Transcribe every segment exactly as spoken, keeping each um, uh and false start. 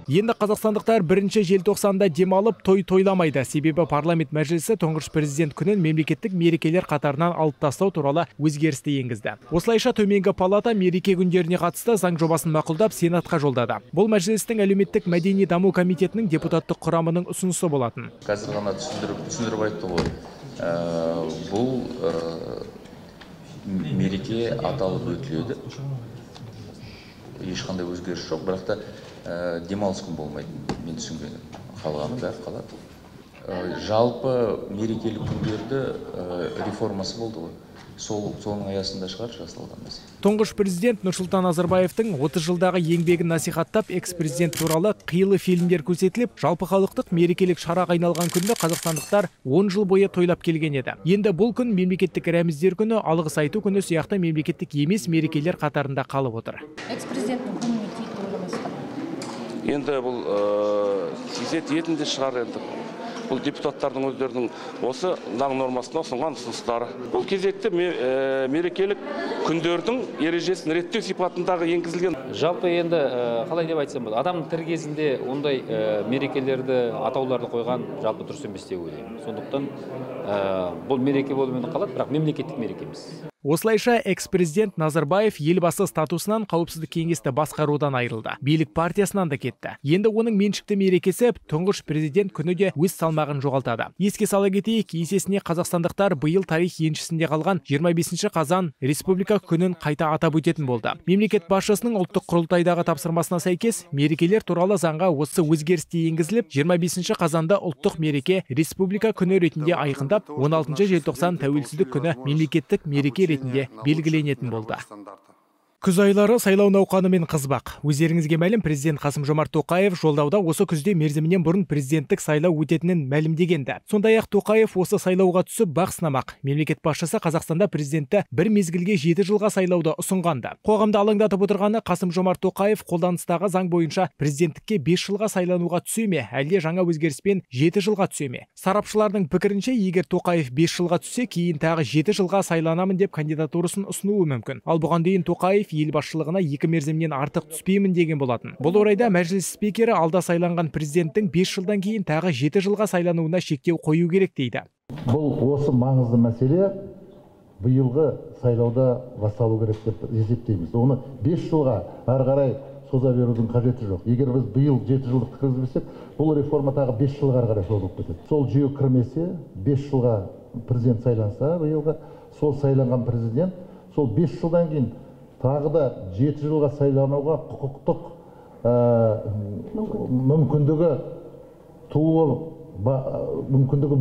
Енді қазақстандықтар бірінші желтоқсанда демалып той тойламайды. Себебі парламент мәжілісі тұңғыш президент күнін мемлекеттік мерекелер қатарынан алып тастау туралы өзгерісті енгізді. Осылайша төменгі палата мереке күндеріне қатысты заң жобасын мақұлдап Сенатқа жолдады. Бұл мәжілістің әлеуметтік мәдени даму комитетінің депутаттық құрамының ұсынысы болатын. Қазір ғана түсіндіріп түсіндіріп айтты ғой. Бұл мереке аталып өтіледі. Ешқандай өзгеріс жоқ, бірақ та демалыс күн болмайды. Мен түсінгенім. Қалғаны бәрі қалады. Жалпы мерекелік күндерді реформасы болды ғой. Сол соның аясында шығар жасалған мәселе. Тұңғыш президент Нұрсұлтан Назарбаевтың отыз жылдағы еңбегін насихаттап, экс-президент туралы қилы фильмдер көрсетіліп, жалпы халықтық мерекелік шараға айналған күнді қазақстандықтар он жыл бойы тойлап келген еді. Енді бұл күн мемлекеттік рәміздер күні, алғыс айту күні сияқты мемлекеттік емес мерекелер қатарында қалып отыр. Экс-президенттің күніне тиіп ойламайсыздар? Енді бұл сезет етінде шығар енді. Бұл депутаттардың өздерінің осы заң нормасына ұсынған ұсыныстары. Бұл кезекте мерекелік күндердің ережесін реттеу сипатындағы енгізілген. Жалпы енді қалай деп айтсам болады, адамның тірі кезінде ондай мерекелерді, атауларды қойған жалпы дұрыс емес деп ойлаймын. Сондықтан бұл мереке болумен қалады, бірақ мемлекеттік мереке емес. Осылайша экс-президент Назарбаев елбасы статусынан қауіпсіздік кеңесті басқарудан айырылды. Билік партиясынан да кетті. Енді оның меншікті мерекесі тұңғыш президент күні де өз салмағын жоғалтады. Еске сала кетейік, есесіне қазақстандықтар биыл тарих еншісінде қалған жиырма бесінші қазан республика күнін қайта атап өтетін болды. Мемлекет басшысының ұлттық құрылтайдағы тапсырмасына сәйкес мерекелер туралы заңға осы өзгерісте енгізіліп, жиырма бесінші қазанда ұлттық мереке республика күні ретінде айқындап, он алтыншы желтоқсан тәуелсіздік күні мемлекеттік мереке ретінде белгіленетін болды. Күз айлары сайлау науқанымен қызбақ. Өздеріңізге мәлім, президент Қасым-Жомарт Тоқаев жолдауда осы күзде мерзімінен бұрын президенттік сайлау өтетінін мәлімдегенді. Сондай-ақ Тоқаев осы сайлауға түсіп бақ сынамақ. Мемлекет басшысы Қазақстанда президентті бір мезгілге жеті жылға сайлауды ұсынғанды. Қоғамды алаңдатып отырғаны Қасым-Жомарт Тоқаев қолданыстағы заң бойынша президенттікке бес жылға сайлануға түсе ме, әлде жаңа өзгеріспен жеті жылға түсе ме? Сарапшылардың пікірінше, егер Тоқаев бес жылға түссе, кейін тағы жеті жылға сайланамын деп кандидатурасын ұсынуы мүмкін. Ал бұған дейін Тоқаев ел басшылығына екі мерзімнен артық түспеймін деген болатын. Бұл орайда мәжіліс спикері алда сайланған президенттің бес жылдан кейін тағы жеті жылға сайлануына шектеу қою керек дейді. Бұл осы маңызды мәселе биылғы сайлауда басталу керек деп есептейміз. Оны бес жылға ары қарай соза берудің қажеті жоқ. Егер біз биыл жеті жылдық кіргізбесек, бұл реформа тағы бес жылға ары қарай созылып кетеді. Сол жүйе кірмесе, бес жылға президент сайланса, биылғы сол сайланған президент сол бес жылдан кейін тағы да жеті жылға сайлануға құқықтық мүмкіндігі туы мүмкіндігі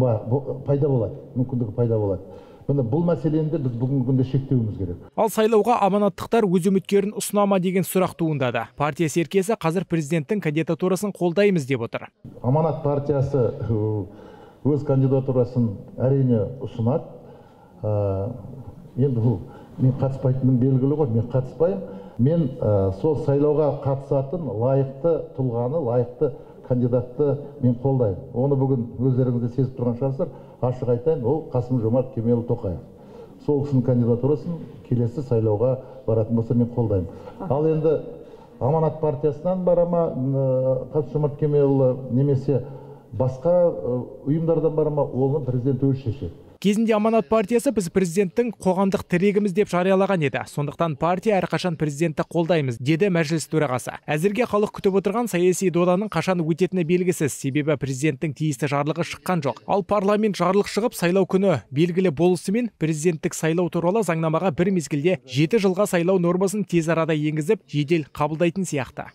пайда болады. Мүмкіндігі пайда болады. Міне бұл мәселені де біз бүгінгі күнде шектеуіміз керек. Ал сайлауға аманаттықтар өз үміткерін ұсынама деген сұрақ туындады. Партия серкесі қазір президенттің кандидатурасын қолдаймыз деп отыр. Аманат партиясы өз кандидатурасын әрине ұсынады. Енді бұл мен қатыспайтыным белгілі ғой, мен қатыспаймын. Мен сол сайлауға қатысатын лайықты тұлғаны, лайықты кандидатты мен қолдаймын. Оны бүгін өздеріңізде сезіп тұрған шығарсыздар, ашық айтайын, ол Қасым-Жомарт Кемелұлы Тоқаев. Сол кісінің кандидатурасын келесі сайлауға баратын болса мен қолдаймын. Ал енді Аманат партиясынан барама Қасым-Жомарт Кемелұлы немесе басқа ұйымдардан барама, оны президент өзі шешеді. Кезінде Аманат партиясы біз президенттің қоғамдық тірегіміз деп жариялаған еді. Сондықтан партия әрқашан президентті қолдаймыз, деді мәжіліс төрағасы. Әзірге халық күтіп отырған саяси доданың қашан өтетіні белгісіз, себебі президенттің тиісті жарлығы шыққан жоқ. Ал парламент жарлық шығып, сайлау күні белгілі болысымен президенттік сайлау туралы заңнамаға бір мезгілде жеті жылға сайлау нормасын тез арада енгізіп, жедел қабылдайтын сияқты.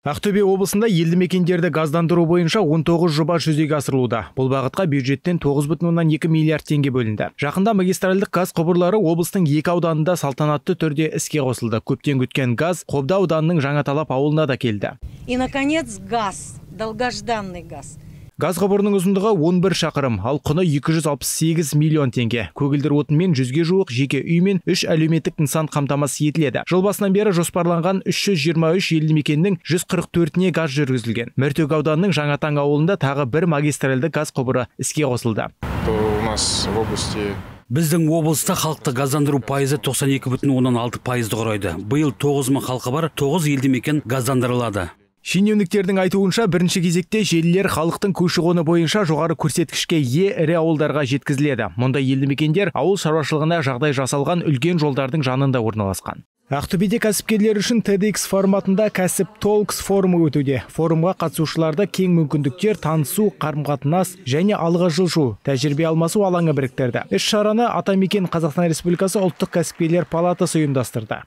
Ақтөбе облысында елді мекендерді газдандыру бойынша он тоғыз жоба жүзеге асырылуда. Бұл бағытқа бюджеттен тоғыз бүтін оннан екі миллиард теңге бөлінді. Жақында магистральдық газ құбырлары облыстың екі ауданында салтанатты түрде іске қосылды. Көптен күткен газ Қобда ауданының Жаңаталап ауылына да келді. И наконец газ, долгожданный газ. Газ құбырының ұзындығы он бір шақырым, ал құны екі жүз алпыс сегіз миллион теңге. Көгілдір отынмен жүзге жуық жеке үй мен үш әлеуметтік нысан қамтамасыз етіледі. Жыл басынан бері жоспарланған үш жүз жиырма үш елді мекеннің жүз қырық төртіне газ жүргізілген. Мәртөк ауданының Жаңатаң ауылында тағы бір магистральды газ құбыры іске қосылды. У нас в области Біздің облыста халықты газдандыру пайызы тоқсан екі бүтін оннан алты пайызды құрайды. Биыл тоғыз мың халқы бар, тоғыз елді мекен газдандырылады. Шенеуніктердің айтуынша бірінші кезекте желілер халықтың көші-қоны бойынша жоғары көрсеткішке ие ірі ауылдарға жеткізіледі. Мұнда елді мекендер ауыл шаруашылығына жағдай жасалған үлкен жолдардың жанында орналасқан. Ақтөбеде кәсіпкерлер үшін TEDx форматында кәсіп Talks форумы өтуде. Форумға қатысушыларды кең мүмкіндіктер, танысу, қарым-қатынас және алға жылжу, тәжірибе алмасу алаңы біріктірді. Іс-шараны Атамекен Қазақстан Республикасы ұлттық кәсіпкерлер палатасы ұйымдастырды.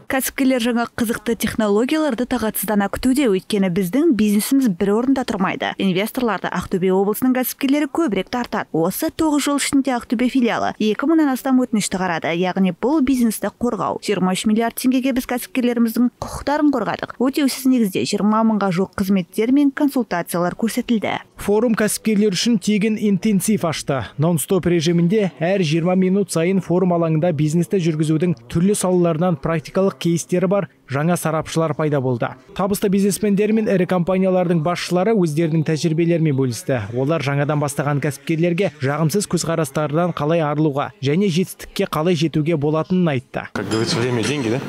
Кәсіпкерлер жаңа қызықты технологияларды тағатсыздана күтуде, өйткені біздің бизнесіміз бір орында тұрмайды. Инвесторларды Ақтөбе облысының кәсіпкерлері көбірек тартады. Осы тоғыз жыл ішінде Ақтөбе филиалы екі мыңнан астам өтінішті қарады, яғни бұл бизнесті қорғау. жиырма үш миллиард теңгеге біз кәсіпкерлеріміздің құқықтарын қорғадық. Өтеусіз негізде жиырма мыңға жуық қызметтер мен консультациялар көрсетілді. Форум кәсіпкерлер үшін тегін интенсив ашты. Нон-стоп режимінде әр жиырма минут сайын форум алаңында бизнесті жүргізудің түрлі салаларынан практикалық кейстері бар жаңа сарапшылар пайда болды. Табысты бизнесмендер мен ірі компаниялардың басшылары өздерінің тәжірибелерімен бөлісті. Олар жаңадан бастаған кәсіпкерлерге жағымсыз көзқарастардан қалай арылуға және жетістікке қалай жетуге болатынын айтты. Как говорится, время деньги, да?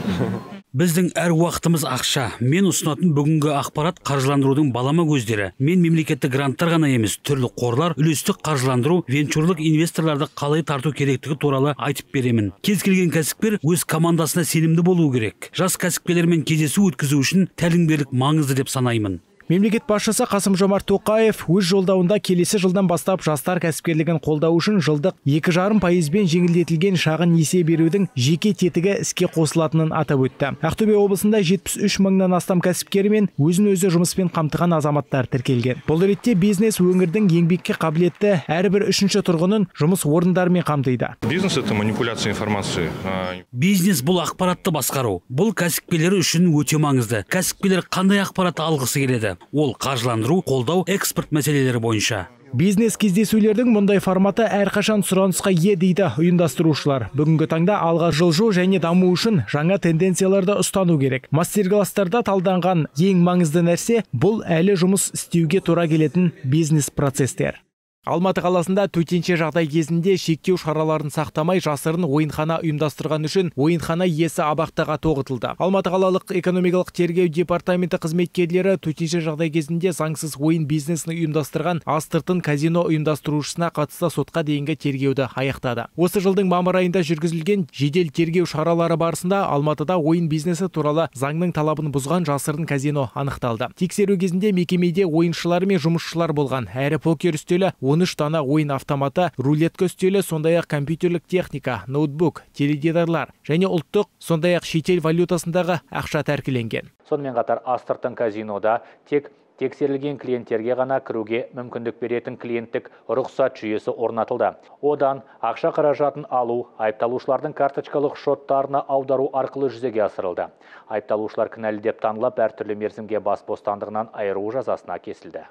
Біздің әр уақытымыз ақша. Мен ұсынатын бүгінгі ақпарат қаржыландырудың балама көздері. Мен мемлекеттік гранттар ғана емес, түрлі қорлар, үлестік қаржыландыру, венчурлық инвесторларды қалай тарту керектігі туралы айтып беремін. Кез келген кәсіпкер өз командасына сенімді болуы керек. Жас кәсіпкерлермен кездесу өткізу үшін тәлімгерлік маңызды деп санаймын. Мемлекет басшысы Қасым-Жомарт Тоқаев өз жолдауында келесі жылдан бастап жастар кәсіпкерлігін қолдау үшін жылдық екі жарым пайызбен жеңілдетілген шағын несие берудің жеке тетігі іске қосылатынын атап өтті. Ақтөбе облысында жетпіс үш мыңнан астам кәсіпкер мен өзін-өзі жұмыспен қамтыған азаматтар тіркелген. Бұл ретте бизнес өңірдің еңбекке қабілетті әрбір үшінші тұрғынын жұмыс орындарымен қамтиды. Бизнес это манипуляция информации. Бизнес бұл ақпаратты басқару. Бұл кәсіпкерлер үшін өте маңызды. Кәсіпкерлер қандай ақпаратты алғысы келеді? Ол қаржыландыру, қолдау, экспорт мәселелері бойынша. Бизнес кездесулердің мұндай форматы әрқашан сұранысқа ие дейді ұйымдастырушылар. Бүгінгі таңда алға жылжу және даму үшін жаңа тенденцияларды ұстану керек. Мастер-класстарда талданған ең маңызды нәрсе бұл әлі жұмыс істеуге тура келетін бизнес процестер. Алматы қаласында төтенше жағдай кезінде шектеу шараларын сақтамай жасырын ойынхана ұйымдастырған үшін ойынхана иесі абақтыға тоғытылды. Алматы қалалық экономикалық тергеу департаменті қызметкерлері төтенше жағдай кезінде заңсыз ойын бизнесін ұйымдастырған астыртын казино ұйымдастырушысына қатысты сотқа дейінгі тергеуді аяқтады. Осы жылдың мамыр айында жүргізілген жедел тергеу шаралары барысында Алматыда ойын бизнесі туралы заңның талабын бұзған жасырын казино анықталды. Тексеру кезінде мекемеде ойыншылар мен жұмысшылар болған. Әрі покер үстелі, он үш дана ойын автоматы, рулетка үстелі, сондай-ақ компьютерлік техника, ноутбук, теледидарлар және ұлттық, сондай-ақ шетел валютасындағы ақша тәркіленген. Сонымен қатар астыртын казинода тек тексерілген клиенттерге ғана кіруге мүмкіндік беретін клиенттік рұқсат жүйесі орнатылды. Одан ақша қаражатын алу, айыпталушылардың карточкалық шоттарына аудару арқылы жүзеге асырылды. Айыпталушылар кінәлі деп танылып, әртүрлі мерзімге бас бостандығынан айыру жазасына кесілді.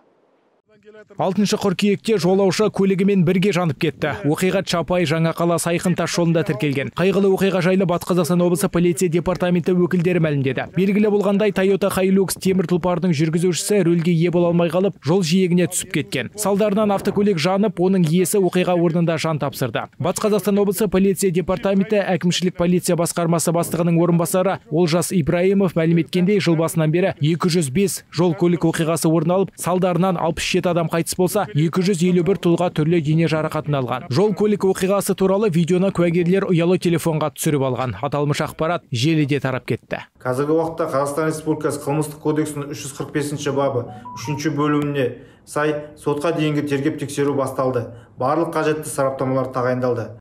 алтыншы қыркүйекте жолаушы көлігімен бірге жанып кетті. Оқиға Чапай Жаңақала Сайқын тас жолында тіркелген. Қайғылы оқиға жайлы Батыс Қазақстан облысы полиция департаменті өкілдері мәлімдеді. Белгілі болғандай Toyota Hilux темір тұлпардың жүргізушісі рөлге ие бола алмай қалып, жол жиегіне түсіп кеткен. Салдарынан автокөлік жанып, оның иесі оқиға орнында жан тапсырды. Батыс Қазақстан облысы полиция департаменті әкімшілік полиция басқармасы бастығының орынбасары Олжас Ибраимов мәлім еткендей, жыл басынан бері екі жүз бес жол көлік оқиғасы орын алып, салдарынан алпыс жеті адам қайтыс болса, екі жүз елу бір тұлға түрлі дене жарақатын алған. Жол көлік оқиғасы туралы видеоны куәгерлер ұялы телефонға түсіріп алған. Аталмыш ақпарат желіде тарап кетті. Қазіргі уақытта Қазақстан Республикасы қылмыстық кодексінің үш жүз қырық бесінші бабы үшінші бөліміне сай сотқа дейінгі тергеп тексеру басталды. Барлық қажетті сараптамалар тағайындалды.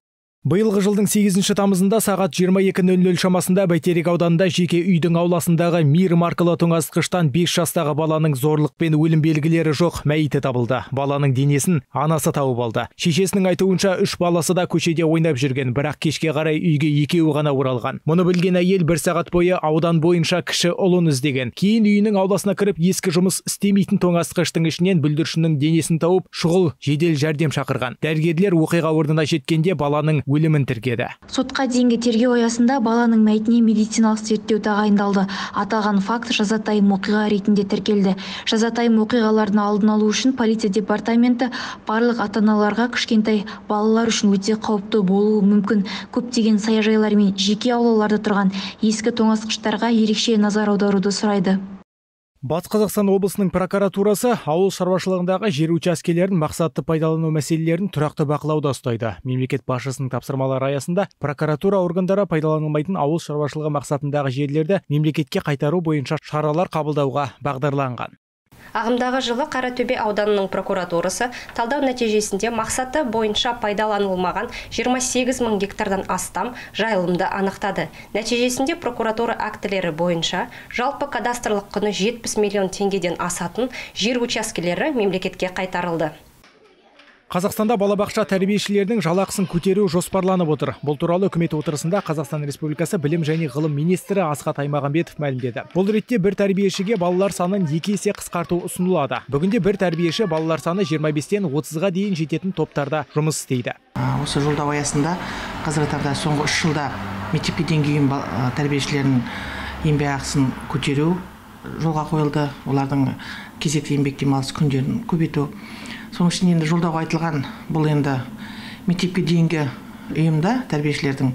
Биылғы жылдың сегізінші тамызында сағат жиырма екі нөл нөл шамасында Бәйтерек ауданында жеке үйдің ауласындағы Мир маркалы тоңазытқыштан бес жастағы баланың зорлықпен өлім белгілері жоқ мәйіті табылды. Баланың денесін анасы тауып алды. Шешесінің айтуынша үш баласы да көшеде ойнап жүрген, бірақ кешке қарай үйге екеуі ғана оралған. Мұны білген әйел бір сағат бойы аудан бойынша кіші ұлын іздеген. Кейін үйінің ауласына кіріп, ескі жұмыс істемейтін тоңазытқыштың ішінен бүлдіршіннің денесін тауып, шұғыл жедел жәрдем шақырған. Дәрігерлер оқиға орнына жеткенде баланың өлімін тіркеді. Сотқа дейінгі тергеу аясында баланың мәйітіне медициналық зерттеу тағайындалды. Аталған факт жазатайым оқиға ретінде тіркелді. Жазатайым оқиғалардың алдын алу үшін полиция департаменті барлық ата-аналарға кішкентай балалар үшін өте қауіпті болуы мүмкін көптеген саяжайлар мен жеке аулаларда тұрған ескі тоңазытқыштарға ерекше назар аударуды сұрайды. Батыс Қазақстан облысының прокуратурасы ауыл шаруашылығындағы жер учаскелерін мақсатты пайдалану мәселелерін тұрақты бақылауда ұстайды. Мемлекет басшысының тапсырмалары аясында прокуратура органдары пайдаланылмайтын ауыл шаруашылығы мақсатындағы жерлерді мемлекетке қайтару бойынша шаралар қабылдауға бағдарланған. Ағымдағы жылы Қаратөбе ауданының прокуратурасы талдау нәтижесінде мақсаты бойынша пайдаланылмаған жиырма сегіз мың гектардан астам жайылымды анықтады. Нәтижесінде прокуратура актілері бойынша жалпы кадастрлық құны жетпіс миллион теңгеден асатын жер учаскелері мемлекетке қайтарылды. Қазақстанда балабақша тәрбиешілерінің жалақысын көтеру жоспарланып отыр. Бұл туралы үкімет отырысында Қазақстан Республикасы білім және ғылым министрі Асхат Аймағамбетов мәлімдеді. Бұл ретте бір тәрбиешіге балалар санын екі есе қысқарту ұсынылады. Бүгінде бір тәрбиеші балалар саны жиырма бестен отызға дейін жететін топтарда жұмыс істейді. Осы жолдау аясында қазіргі таңда соңғы үш жылда мектепке дейінгі тәрбиешілерінің еңбек ақысын көтеру жолға қойылды. Олардың кезекті еңбек демалыс күндерін көбейту. Соның ішінде енді жолдауға айтылған бұл енді мектепке дейінгі ұйымда тәрбиешілердің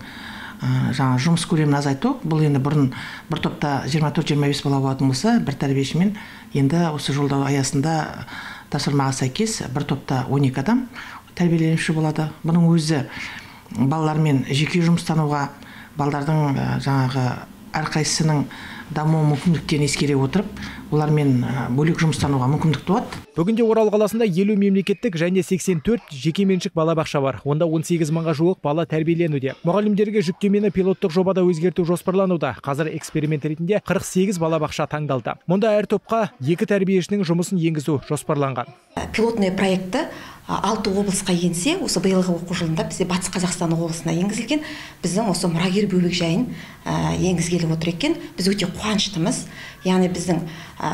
жаңа жұмыс көлемін азайту. Бұл енді бұрын бір топта жиырма төрт жиырма бес бала болатын болса, бір тәрбиешімен енді осы жолдау аясында тапсырмаға сәйкес бір топта он екі адам тәрбиеленуші болады. Бұның өзі балалармен жеке жұмыстануға, балалардың жаңағы әрқайсысының даму мүмкіндіктерін ескере отырып, олармен бөлек жұмыстануға мүмкіндік туады. Бүгінде Орал қаласында елу мемлекеттік және сексен төрт жекеменшік балабақша бар. Онда он сегіз мыңға жуық бала тәрбиеленуде. Мұғалімдерге жүктемені пилоттық жобада өзгерту жоспарлануда. Қазір эксперимент ретінде қырық сегіз балабақша таңдалды. Мұнда әр топқа екі тәрбиешінің жұмысын енгізу жоспарланған. Пилотный проекті алты облысқа енсе, осы биылғы оқу жылында бізде Батыс Қазақстан облысына енгізілген. Біздің осы мұрагер бөбек жайын енгізгелі отыр екен. Біз өте қуаныштымыз. Яғни біздің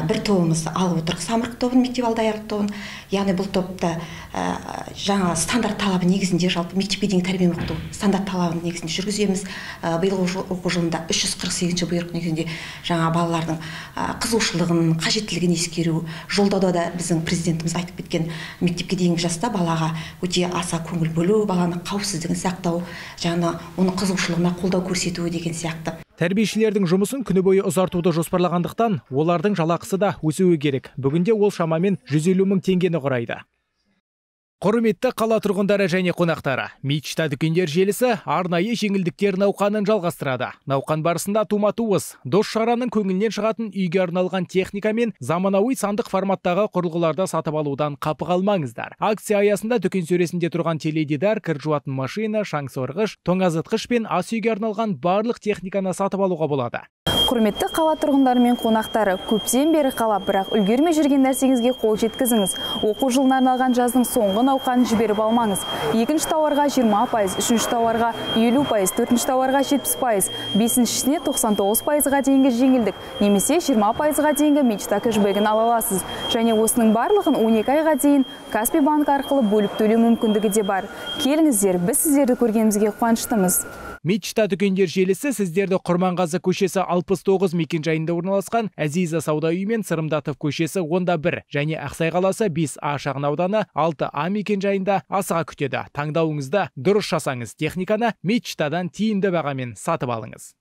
бір тобымызды алып отырық, самұрық тобын, мектеп алдаярлық тобын. Яғни бұл топта жаңа стандарт талабы негізінде жалпы мектепке дейінгі тәрбие оқыту стандарт талабын негізінде жүргіземіз. Биылғы оқу жылында үш жүз қырық сегізінші бұйрық негізінде жаңа балалардың қызығушылығын, қажеттілігін ескеру. Жолдауда да біздің президентіміз айтып кеткен мектепке дейінгі жаста балаға өте аса көңіл бөлу, баланың қауіпсіздігін сақтау, жаңа оның қызығушылығына қолдау көрсету деген сияқты. Тәрбиешілердің жұмысын күні бойы ұзартуды жоспарлағандықтан, олардың жалақысы да өсуі керек. Бүгінде ол шамамен жүз елу мың теңгені құрайды. Құрметті қала тұрғындары және қонақтары, Мечта дүкендер желісі арнайы жеңілдіктер науқанын жалғастырады. Науқан барысында тума-туыс, дос шараның көңілінен шығатын үйге арналған техника мен заманауи сандық форматтағы құрылғыларды сатып алудан қапы қалмаңыздар. Акция аясында дүкен сөресінде тұрған теледидар, кір жуатын машина, шаң сорғыш, тоңазытқыш пен ас үйге арналған барлық техниканы сатып алуға болады. Құрметті қала тұрғындары мен қонақтары, көптен бері қалап, бірақ үлгермей жүрген нәрсеңізге қол жеткізіңіз. Оқу жылына арналған жаздың соңғы науқанын жіберіп алмаңыз. Екінші тауарға жиырма пайыз, үшінші тауарға елу пайыз, төртінші тауарға жетпіс пайыз, бесіншісіне тоқсан тоғыз пайызға дейінгі жеңілдік, немесе жиырма пайызға дейінгі Мечта кэшбэгін ала аласыз. Және осының барлығын он екі айға дейін Каспий банк арқылы бөліп төлеу мүмкіндігі де бар. Келіңіздер, біз сіздерді көргенімізге қуаныштымыз. Мечта дүкендер желісі сіздерді Құрманғазы көшесі алпыс тоғыз мекенжайында орналасқан Әзиза сауда үйі мен Сырымдатов көшесі онда бір және Ақсай қаласы бес А шағын ауданы алты А мекенжайында асыға күтеді. Таңдауыңызда дұрыс жасаңыз, техниканы Мечтадан тиімді бағамен сатып алыңыз.